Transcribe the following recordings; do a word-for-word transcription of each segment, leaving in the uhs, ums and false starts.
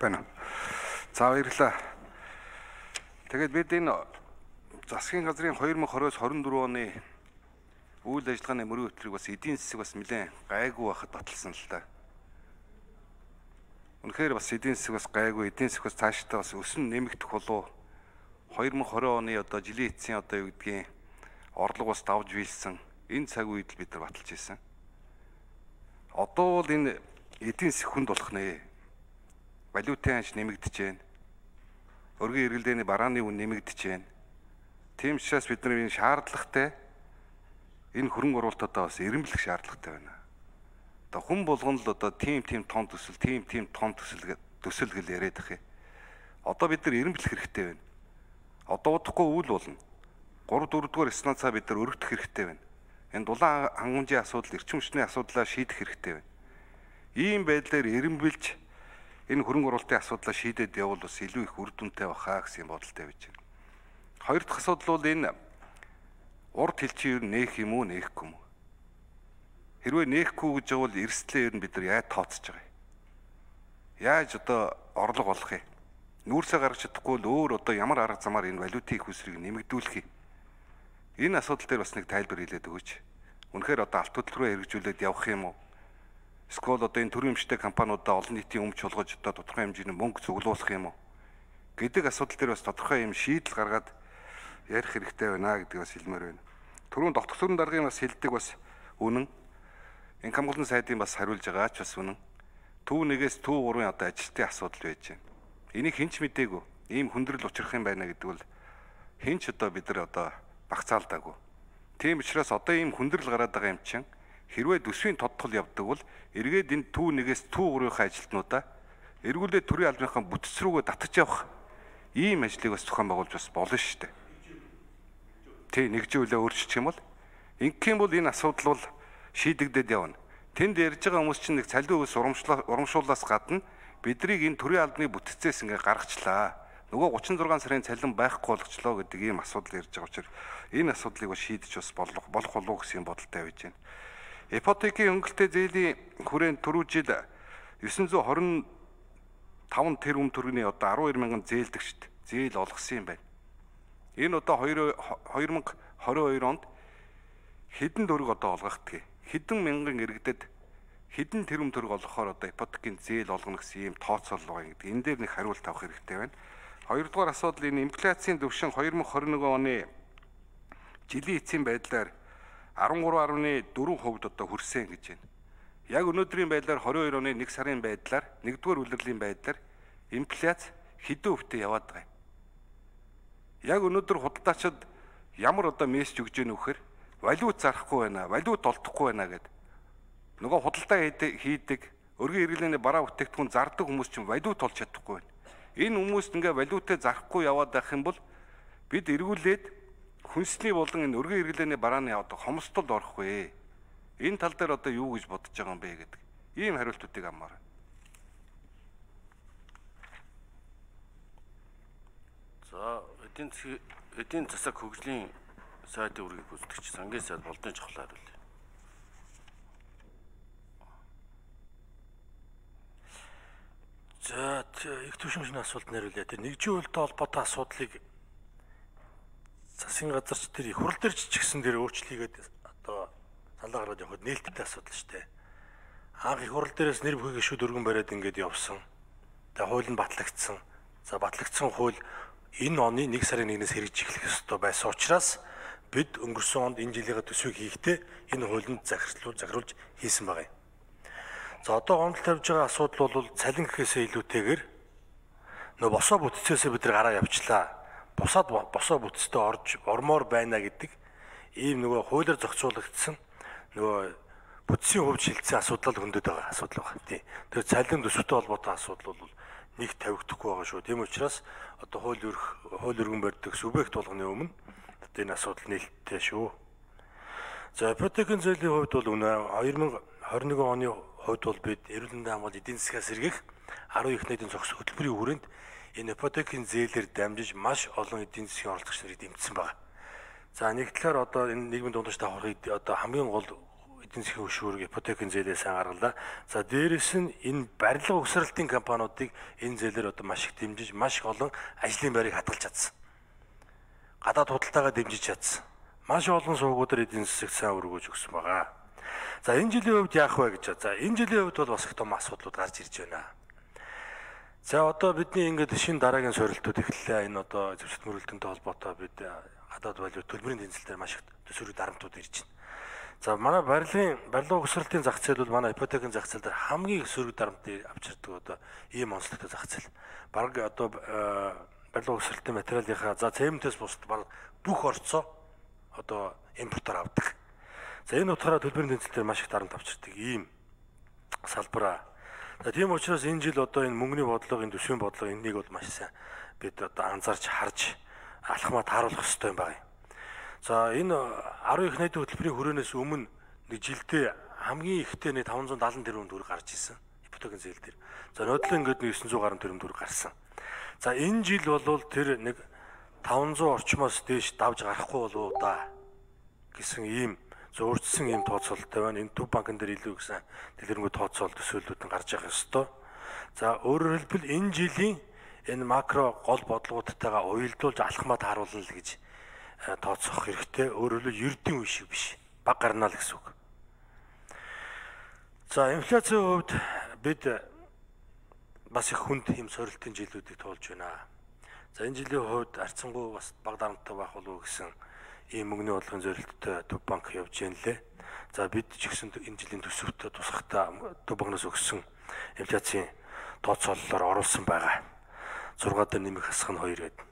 байна. За баярлалаа. Тэгээд бид энэ засгийн газрын two thousand twenty-с twenty-four оны үйл ажиллагааны мөрийн хөтөлбөрийг бас эдийн засаг бас нэлээд гайгүй байхад баталсан л та. Үнэхээр бас эдийн засаг бас гайгүй, эдийн засаг бас цаашдаа бас өсөн нэмэгдэх болов. two thousand twenty оны одоо жилийн эцсийн одоо юу гэдгийг орлого бас давж биелсэн. Энэ цаг үед л бид нар баталж ирсэн. Одоо бол энэ эдийн засаг хүнд болох нэ. Валютын ханш нэмэгдэж байна. Өргөн эргэлдээний барааны үн нэмэгдэж байна. Тийм учраас бид нар энэ шаардлагатай энэ хөрөнгө оруулалтаа бас эренблэх шаардлагатай байна. Одоо хүн болгон л одоо тийм тийм том төсөл, тийм тийм том төсөл төсөл гэл яриад ах юм. Одоо бид нар эренблэх хэрэгтэй байна. Одоо удахгүй үйл болно. three four дугаар станцаа бид нар өргөдөх хэрэгтэй байна. Энэ дулаан хангамжийн асуудал, эрчим хүчний асуудлаа шийдэх хэрэгтэй байна. Ийм байдлаар эренбэлж энэ хөрөнгө оруулалтын асуудлаа шийдээд явбал бас илүү их үр дүнтэй бахаа гэсэн бодолтой байж байна. Хоёр дахь асуудал бол энэ урд хэлчийн ер нь нээх юм уу, нээхгүй юм уу? Хэрвээ нээхгүй гэж бол эрсдлээ ер нь бид нар яаж тооцож байгаа юм? Яаж одоо орлого олох юм? Нүүрсээ гаргаж чадахгүй л өөр одоо ямар арга замаар энэ валютын их үсрийг нэмэгдүүлэх юм? Энэ асуудал дээр бас нэг тайлбар хэлээд өгөөч. Үнэхээр одоо алт хөдөл рүү хэрэгжүүлээд явах юм уу? Эсвэл одоо энэ төрийн эмчтэй компаниудаа олон нийтийн өмч болгож одоо тодорхой хэмжээний мөнгө цуглуулах юм уу? Гэдэг асуудал дээр бас тодорхой юм шийдэл гаргаад ярих хэрэгтэй байна гэдгийг бас хэлмээр байна. Түрүүн дотор сүрэн даргын бас хэлдэг бас үнэн. Инх хамгаалалтын сайдын бас хариулж байгаа ч бас үнэн. Төв нэгээс төв гурвын одоо ажилтны асуудал байж байна. Энийг хэн ч мэдээгүй. Ийм хүндрэл учрах юм байна гэдэг бол хэн ч одоо бид нар одоо багцаалдаагүй. Тийм учраас одоо ийм хүндрэл гараад байгаа юм чинь хэрвээ төсвийн тодтол явдаг бол эргээд энэ төв нэгээс төв гурвынхаа ажилтнуудаа эргүүлээд төрийн албаныхаа бүтц рүүгээ татаж явах ийм ажлыг бас зохион байгуулж бас болно шүү дээ. Тэ нэгжүүлээ өөрчилчих юм бол ингэх юм бол энэ асуудал бол шийдэгдээд явна. Тэнд ярьж байгаа хүмүүс чинь нэг цалин өвс урамшуулаас гадна бидрийг энэ төрийн албаны бүтцээс ингээ гаргачлаа. Нөгөө thirty-six сарын цалин байхгүй болгочлоо гэдэг ийм асуудал ярьж байгаа учраас энэ асуудлыг бас шийдэж бас болох болох болов гэсэн бодолтой байж байна. Ипотекийн хөнгөлтэй зээлийн хүрээнд түрүү жил nine hundred twenty-five тэрбум төгрөгийн одоо twelve мянган зээлдэгчд зээл олгосон юм байна. Энэ одоо twenty twenty-two онд хэдэн төгрөг одоо олгохдгийг, хэдэн мянган иргэдэд хэдэн тэрбум төгрөг олгохоор одоо ипотекийн зээл олгоно гэсэн ийм тооцоол байгаа гэдэг. Энэ дээр нэг хариулт авах хэрэгтэй байна. Хоёрдугаар асуудал энэ инфляцийн түвшин twenty twenty-one оны жилийн эцсийн байдлаар thirteen point four хувьд одоо хүрсэн гэж байна. Яг өнөөдрийн байдлаар twenty-two оны нэг сарын байдлаар нэгдүгээр улирлын байдлаар инфляц хэдэн хувьтай яваад байгаа юм. Яг өнөөдөр худалдаачид ямар одоо мессеж өгж ийнө вөхөр валют зарахгүй байна, валют олдохгүй байна гэд. Нөгөө худалдаа хийдэг, өргөн эргэлээний бараа бүтээгдэхүүн зардаг хүмүүс чинь валют олж чадахгүй байна. Энэ хүмүүст ингээ валютаа зарахгүй яваад байх юм бол бид эргүүлээд хүнсний болон энэ өргөн эргэлээний барааны одоо хомсдолд орохгүй. Энэ тал дээр одоо юу гэж бодож байгаа юм бэ гэдэг. Ийм хариултуудыг аммаар. За эдийн засгийн эдийн засаг хөгжлийн сайдын үргийг гүйцэтгэгч сангийн сайд болдын чухал хариулъя. За их түвшингийн асуулт нэрлээ. Тэр нэгжийн үйлдэл холбоотой асуудлыг засгийн газарч тэр их хурал дээр ч гэсэн тэр өөрчлөлийгээд одоо саналаа гаргаад явахад нээлттэй асуудал шүү дээ. Анх их хурал дээрээс нэр бүхий гишүүд өргөн бариад ингээд явсан. Тэгээ хууль нь батлагдсан. За батлагдсан хууль энэ оны нэг сарын нэгнээс хэрэгжих ёстой байсан учраас бид өнгөрсөн онд энэ жилийн төсвийг хийхдээ энэ хуулинд захирлуул захируулж хийсэн байгаа юм. За одоо гомдол тавьж байгаа асуудал бол цалин гэхээсээ илүүтэйгээр нөө босоо бүтцээсээ бид нар гараа явчлаа. Бусаад босоо бүтцтэй орж ормоор байна гэдэг ийм нөгөө хуулиар зохицуулагдсан нөгөө бүтцийн хувьд шилжсэн асуудал хөндөд байгаа асуудал байна. Тийм. Тэр цалин төсвөтэй холбоотой асуудал бол нэг тавигдахгүй байгаа шүү. Тийм учраас одоо хууль өрх хууль өргөн барьдаг субъект болгоны өмнө одоо энэ асуудал нээлттэй шүү. За ипотекийн зээлийн хувьд бол үнэ twenty twenty-one оны хувьд бол бид эрүүл мэндийн хамгаалалт эдийн засгаас сэргийх ten их найдын зохис хөтөлбөрийн хүрээнд энэ ипотекийн зээлээр дамжиж маш олон эдийн засгийн оролцогч нарыг дэмжсэн байна. За нэг талаар одоо энэ нийгмийн дундаж давхаргыг одоо хамгийн гол эдийн засгийн хөшүүрэг ипотекийн зээлээ сайн гаргалаа. За дээрэс нь энэ барилга угсралтын компаниудыг энэ зээлээр одоо маш их дэмжиж, маш их олон ажлын байрыг хадгалж чадсан. Гадаад худалдаагаа дэмжиж чадсан. Маш олон сувгуудаар эдийн засагт сайн өргөж өгсөн байгаа. За энэ жилийн хувьд яах вэ гэж. За энэ жилийн хувьд бол бас их том асуудлууд гарч ирж байна. За одоо бидний ингээд шинэ дараагийн сорилтууд эхэллээ. Энэ одоо зэвсэгт мөрөлдөнтэй холбоотой бид гадаад валют төлбөрийн тэнцэлээр маш их төсвөрүүд дарамтууд ирж байна. За манай барилгын барилга угсралтын зах зээл бол манай ипотекийн зах зээл дээр хамгийн их сөрөг дарамтыг авчирдаг одоо ийм онцлогтой зах зээл. Бараг одоо барилга угсралтын материалынхаа за цементээс бусд бараг бүх орцоо одоо импортоор авдаг. За энэ утгаараа төлбөрийн тэнцэлээр маш их дарамт авчирдаг ийм салбараа. За тийм учраас энэ жил одоо энэ мөнгөний бодлого, энэ төсвийн бодлого энэнийг бол маш сайн бид одоо анзаарч харж алхмаа тааруулах хэрэгтэй юм байна. За энэ арван их найдын хөтөлбөрийн хүрээнээс өмнө нэг жилдээ хамгийн ихтэй нэг таван зуун даалан тэрбум төгрөг гарч ирсэн ипотекийн зээл дээр. За нодлон ингээд нэг девятьсот гаруй тэрбум төгрөг гарсан. За энэ жил бол тэр нэг таван зуун орчмоос дээш давж гарахгүй болов уу да гэсэн ийм зөөрчсөн ийм тооцоололтой байна. Энэ төв банкн дээр илүү гэсэн дэлгэрэнгүй тооцоолол төсөөллүүд нь гарч явах ёстой. За өөрөөр хэлбэл энэ жилийн энэ макро гол бодлогуудтайгаа уялдуулж алхмаа тааруулна л гэж тооцоох хэрэгтэй. Өөрөөр хэлбэл ердийн үе шиг биш. Баг гарнаа л гэсэн үг. За инфляцийн хувьд бид бас их хүнд ийм сорилтын жилүүдийг туулж байна. За энэ жилийн хувьд арцсангуй бас баг дарамттай байх болов уу гэсэн ийм мөнгөний бодлогын зорилттой төв банк явж байна лээ. За бид ч гэсэн энэ жилийн төсөвт тусахтаа төв банкнаас өгсөн инфляцийн тооцооллоор оруулсан байгаа. зургаа дээр нэмэх хасах нь хоёр гэдэг.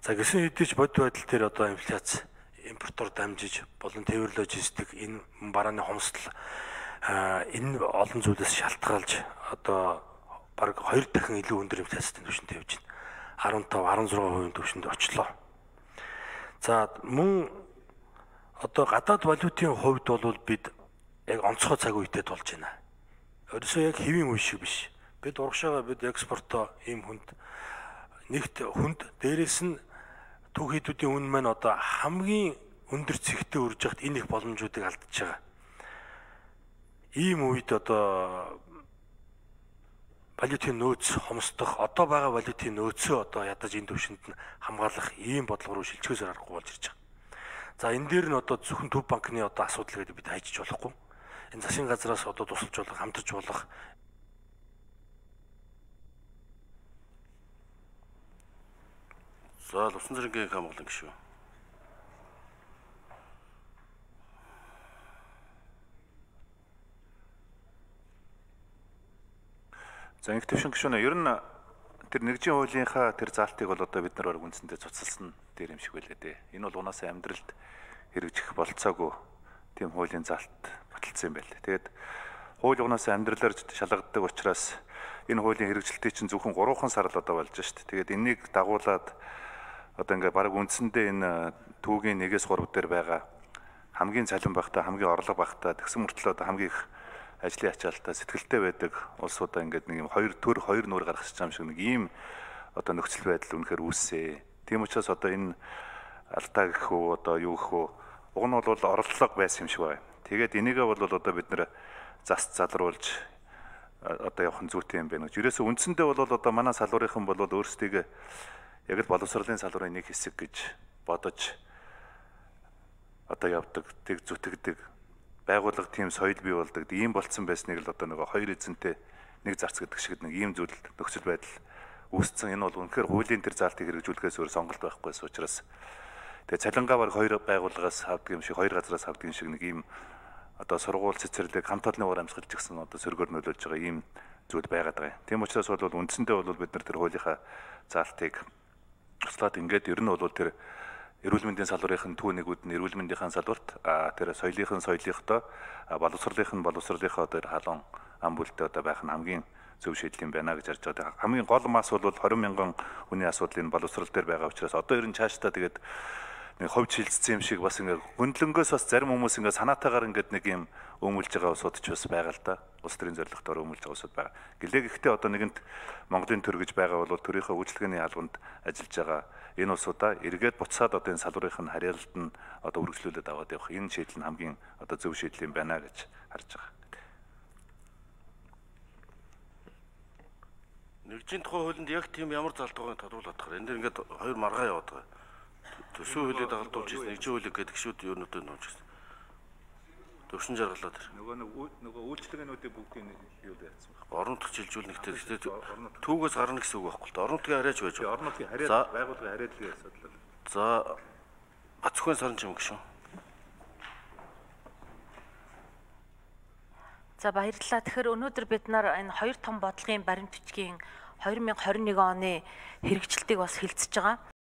За гэсэн хэдий ч бодит байдал дээр одоо инфляц импортоор дамжиж болон тээвэр логистик энэ барааны хомсдол энэ олон зүйлээс шалтгаалж одоо бараг хоёр дахин илүү өндөр инфляцийн түвшинд явж байна. арван тав арван зургаан хувийн түвшинд очлоо. За мөн одоо гадаад валютын хувьд бол бид яг онцгой цаг үедээ тулж байна. Өөрөөсөө яг хэвийн үе шиг биш. Бид урагшаага бид экспортоо ийм хүнд нэгт хүнд дээрээс нь түүхийдүүдийн үн маань одоо хамгийн өндөр цэгтээ үрж яхад энэ их боломжуудыг алдчихж байгаа. Ийм үед одоо валютын нөөц хомсдох, одоо байгаа валютын нөөцөө одоо ядаж энэ төвшөнд нь хамгаалах ийм бодлого руу шилжихөөсөр аргагүй болж ирж байгаа. За энэ дээр нь одоо зөвхөн төв банкны одоо асуудал гэдэг бид хайчиж болохгүй. Энэ засгийн газраас одоо тусалж болох, хамтарч болох За Лувсан цэргийн хамгаалан гишүү. За инх төвшин гишүүнэ ер нь тэр нэгжийн хуулийнхаа тэр заалтыг бол одоо бид нар баг үндсэндээ цуцалсан дээр юм шиг байлээ дээ. Энэ бол унаасаа амьдралд хэрэгжих болцоогүй тийм хуулийн заалт баталсан юм байна. Тэгээд хууль унаасаа амьдралаар шалгагддаг учраас энэ хуулийн хэрэгжилтийг чинь зөвхөн гурван сар л одоо болж шít. Тэгээд энийг дагуулад одоо ингээ баг үндсэндээ энэ түүгийн нэгээс гурав дээр байгаа хамгийн цалин багтаа хамгийн орлого багтаа тэгсэн мөртлөө одоо хамгийн их ажлын ачаалтаа сэтгэлтэй байдаг улсуудаа ингээд нэг юм хоёр төр хоёр нуур гаргах юм шиг нэг ийм одоо нөхцөл байдал үнэхээр үүссэн. Тийм учраас одоо энэ алдаа гэх үү одоо юу гэх үү уг нь бол орлого байсан юм шиг байна. Тэгээд энийгээ бол одоо бид нэр зас залруулж одоо явах нь зүйтэй юм байна гэж. Ерөөсөө үндсэндээ бол одоо манай салбарынхан бол өөрсдийгөө яг л боловсролын салбарын нэг хэсэг гэж бодож одоо явдаг, тэг зүтгэдэг байгууллага тийм соёл бий болдог. Ийм болцсон байсныг л одоо нөгөө хоёр эзэнтэй нэг зарц гэдэг шиг нэг ийм зүйл нөхцөл байдал үүссэн. Энэ бол үнэхээр хуулийн тэр заалтыг хэрэгжүүлэхээс өөр сонголт байхгүйс учраас тэгээ цалингаа баг хоёр байгууллагаас авдаг юм шиг, хоёр газраас авдаг юм шиг нэг ийм одоо сургууль цэцэрлэг хамт олонны уур амьсгал ч гэсэн одоо сөргөөр нөлөөлж байгаа ийм зүйл байгаад байгаа. Тийм учраас бол үндсэндээ бол бид нар тэр хуулийнхаа заалтыг туслаад ингээд ер нь бол тэр эрүүл мэндийн салбарын түүнэгүүд нь эрүүл мэндийн салбарт а тэр соёлынхын соёлынхтой боловсролынхын боловсролынхоо тэр халуун ам бүлтэй одоо байх нь хамгийн зөв шийдэл юм байна гэж харж байгаа. Хамгийн гол мас бол двадцать мянган хүний асуудлын боловсрол дээр байгаа учраас одоо ер нь цаашдаа тэгээд нэг ховж хилцсэн юм шиг бас ингээд хөндлөнгөөс бас зарим хүмүүс ингээд санаатаагаар ингээд нэг юм өмүүлж байгаа усууд ч бас байгаа л да. Улс төрийн зорилготоор өмүүлж байгаа усуд байгаа. Гэлээ гэхдээ одоо нэгэнт Монголын төр гэж байгаа бол төрийнхөө үйлчлэгээний албанд ажиллаж байгаа энэ усудаа эргээд буцаад одоо энэ салбарынх нь харьяалалд нь одоо үргэлжлүүлээд аваад явах энэ шийдэл нь хамгийн одоо зөв шийдэл юм байна гэж харж байгаа. Нэгжийн тухай хуулинд яг тийм ямар залдуугыг тодруулах вэ? Энд ингээд хоёр маргаа яваад байгаа. Төсөө хуулийг дагалдуулж ирсэн нэгжийн хуулийг гэдэг гişүүд юунуудыг нууж ирсэн. Төвшин жаргалаад тэр. Нөгөө нөгөө үйлчлэгээнүүдийн бүгдийг юу яасан бэ? Орон нутгийн шилжүүлнэгтэй гэхдээ түүгээс гарна гэсэн үг байхгүй л дээ. Орон нутгийн харьяач байж байгаа. Орон нутгийн харьяа байгууллагын харьяаллын асуудал. За Бацхан сарын чим гişүн. За баярлалаа. Тэгэхээр өнөөдөр бид нар энэ хоёр том бодлогын баримт бичгийн две тысячи двадцать one оны хэрэгжилтийг бас хэлцэж байгаа.